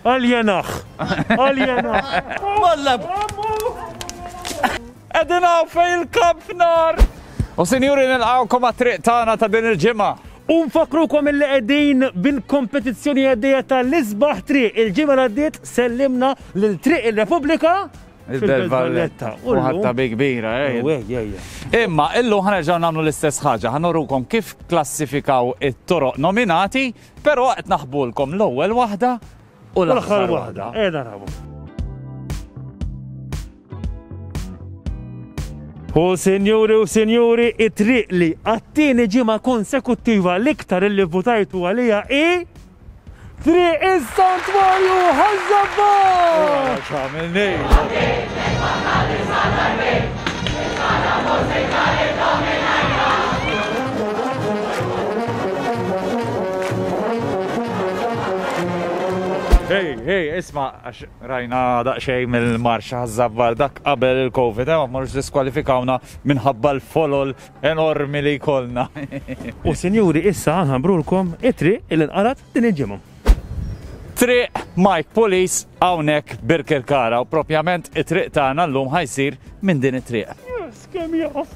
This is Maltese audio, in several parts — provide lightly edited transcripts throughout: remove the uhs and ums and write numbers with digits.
Aljenaħ! Aljenaħ! Mallab! Qegħdin hawn fejn il-kamp nar! U sinjuri nilqgħukom għat-triq tagħna ta' din il-ġimgħa. U nfakkrukom illi qegħdin bil-kompetizzjoni għaddejja tal-isbaħ triq. Il-ġimgħa li għaddiet sellimna lil Triq ir-Repubblika Il-Belt Valletta. U ħatta bi kbira, eh. Imma illum ħanerġgħu nagħmlu l-istess ħaġa, ħanorukom kif klassifikaw it-toroq nominati, però qed naħbulkom l-ewwel waħda u l-aħħar waħda. Qiegħda narawhom. U sinjuri u sinjuri, it-triq li għat-tieni ġimgħa konsekuttiva l-iktar illi votajtu għalija hi Triq is-Santwarju Ħaż-Żabbar! X'għamilni? Hey, hey, isma, għax rajna daqxej mill-marxa ħaż-Żabbar dak qabel il-Covid, eh, ma marrux diskwalifikawna minħabba l-folol enormi li jkollna. U sinjuri issa nħabbrulkom it-triq li nqalgħet din il-ġimgħa. Triq Mike Pulis hawnhekk Birkirkara u propjament it-triq tagħna llum ħa jsir minn din it-triq. Yes, kemm jaf.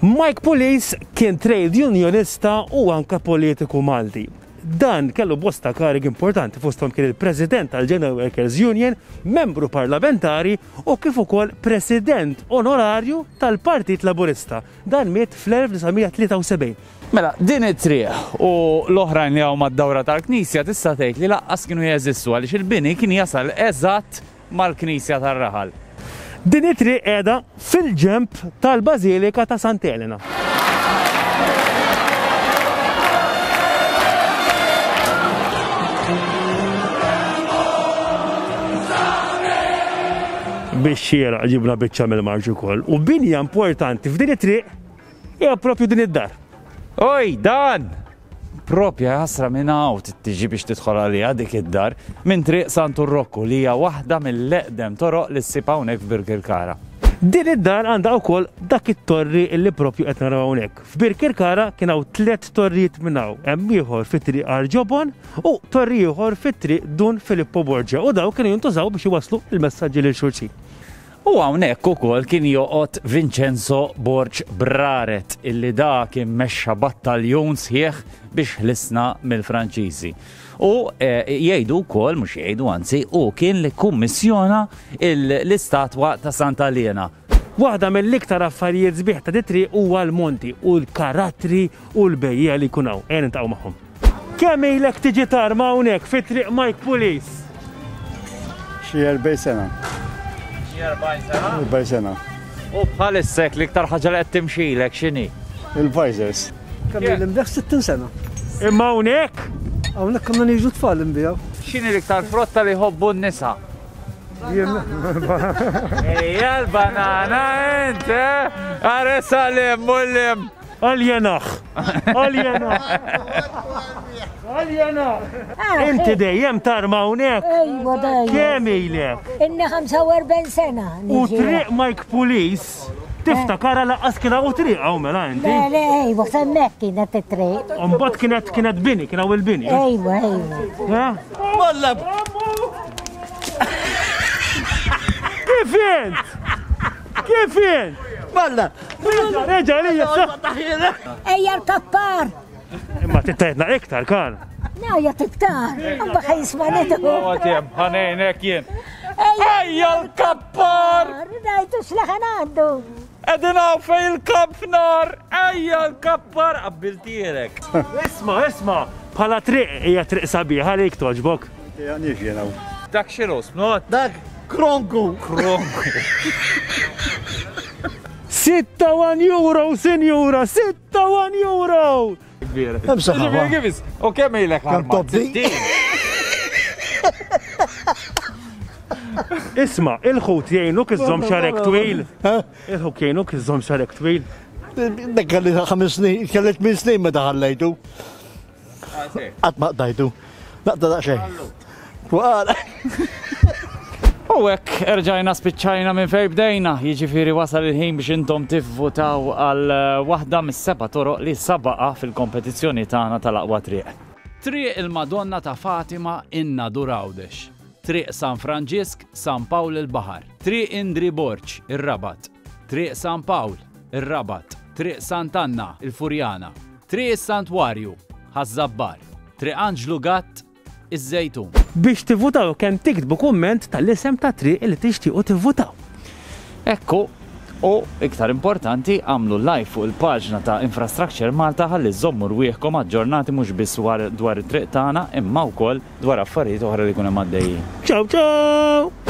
Mike Pulis kien trade unionista u anke politiku Malti. Dan kellu bosta karigi importanti fosthom kien il-President tal-General Workers Union, membru parlamentari u kif ukoll President Onorarju tal-Partit Laburista. Dan miet fl-1973. Mela, din it-triq u l-oħrajn li hawn mad-dawra tal-knisja tista' tgħid li lanqas kienu jeżistu għaliex il-bini kien jasal eżatt mal-knisja tar-raħal. Din it-triq qiegħda fil-ġenb tal-Bażilika ta' Sant'Elena. Biex xieraq ġibna biċċa mill-marġ ukoll. U binja importanti f'din it-triq hija propju din id-dar. Oj, dan! Propja ħasra minn hawn tiġi biex tidħol għaliha dik id-dar minn Triq Santu Rokku li hija waħda mill-eqdem toroq li ssib hawnhekk f'Birkirkara. Din id-dar għandha wkoll dak it-torri li propju qed naraw hawnhekk. F'Birkirkara kien hawn tliet torrijiet minn hawn, hemm ieħor fi Triq Għar Ġobon u torri ieħor fi Triq Dun Filippo Borgia u dawn kienu jintużaw biex iwasslu l-messaġġi lil xulxin. U hawnhekk ukoll kien joqgħod Vincenzo Borg Braret illi da kien mexxa battaljun sħiħ biex ħlisna mill-Franċiżi. U eh, jgħidu wkoll, mhux jgħidu anzi, hu kien li kummissjona l-istatwa ta' Santa Liena. Waħda mill-iktar affarijiet sbieħ ta' dit-triq huwa l-monti u l-karattri u l-bejjiegħa li jkun hawn. Ejja niltaqgħu magħhom. Kemm ilek tiġi tarma hawnhekk fi Triq Mike Pulis? Xi 40 sena. Xi 40 sena? 40 sena. U bħalissa l-iktar ħaġa li qed timxilek x'inhi? Il-visors. Kemm ili nbigħ 60 sena. Imma hawnhekk? Hawnhekk konna niġu tfal nbigħu. X'inhi l-iktar frotta li jħobbu n-nisa? Ejja l-banana int, eh? Are salim, mullim. Aljenaħ! Aljenaħ! Aljenaħ! Inti dejjem tarma hawnhekk? Ejwa dejjem. Kemm ilek? Inni 45 sena. U triq Mike Pulis tiftakara laqqas kien hawn triq hawn mela inti? Le, le, ejwa, semmek kienet it-triq. Mbagħad kienet kienet bini, kien hawn il-bini. Ejwa, ejwa. Malla! Kif int? Kif int? Malla! Reġa' lija Ejja l-kappar! Imma tittajtna iktar, kan. Najja iktar, imma ħajisma nidu. Għatjem, ħanejnek jien. Ejja l-kappar! Najtu xlaħan għandu. Edin għaw fej il-kamp nar! Ejja l-kappar! Qabbiltierek. Isma, isma, bħala triq hija triq sabiħa li toġbok. Għanix jena. Dak xinu, snot? Dak kronku. Kronku. 6 euro, sinjura, 6 euro! Kbira. U kemm ilek Kemm tobdi? Isma, il-ħut jgħinuk iżżomm xarek twil. Il-ħut jgħinuk iżżomm xarek twil. Dak kelli ħames snin, kelli tmien snin meta ħallejtu. Qatt ma qtajtu. Naqta daqsxejn. Waqal. U hekk erġajna spiċċajna minn fejn bdejna, jiġifieri wasal il-ħin biex intom tivvutaw għal waħda mis-seba' toroq li sabaqa fil-kompetizzjoni tagħna tal-aqwa triq. Triq il-Madonna ta' Fatima in-Nadur Għawdex, Triq San Franġisk, San Pawl il-Baħar, Triq Indri Borg, ir-Rabat, Triq San Pawl, ir-Rabat, Triq Sant'Anna, il-Furjana, Triq is-Santwarju, Ħaż-Żabbar, Triq Anġlu Gatt, iż-Żejtun. Biex tivvutaw kemm tiktbu kumment tal-isem tat-triq li tixtiequ tivvutaw. Hekk hu. U, iktar importanti, agħmlu like fuq il-paġna ta' Infrastructure Malta ħalli żżommu rwieħkom aġġornati mhux biss dwar it-triq tagħna imma wkoll dwar affarijiet oħra li jkun hemm għaddejjin. Ciao ciao!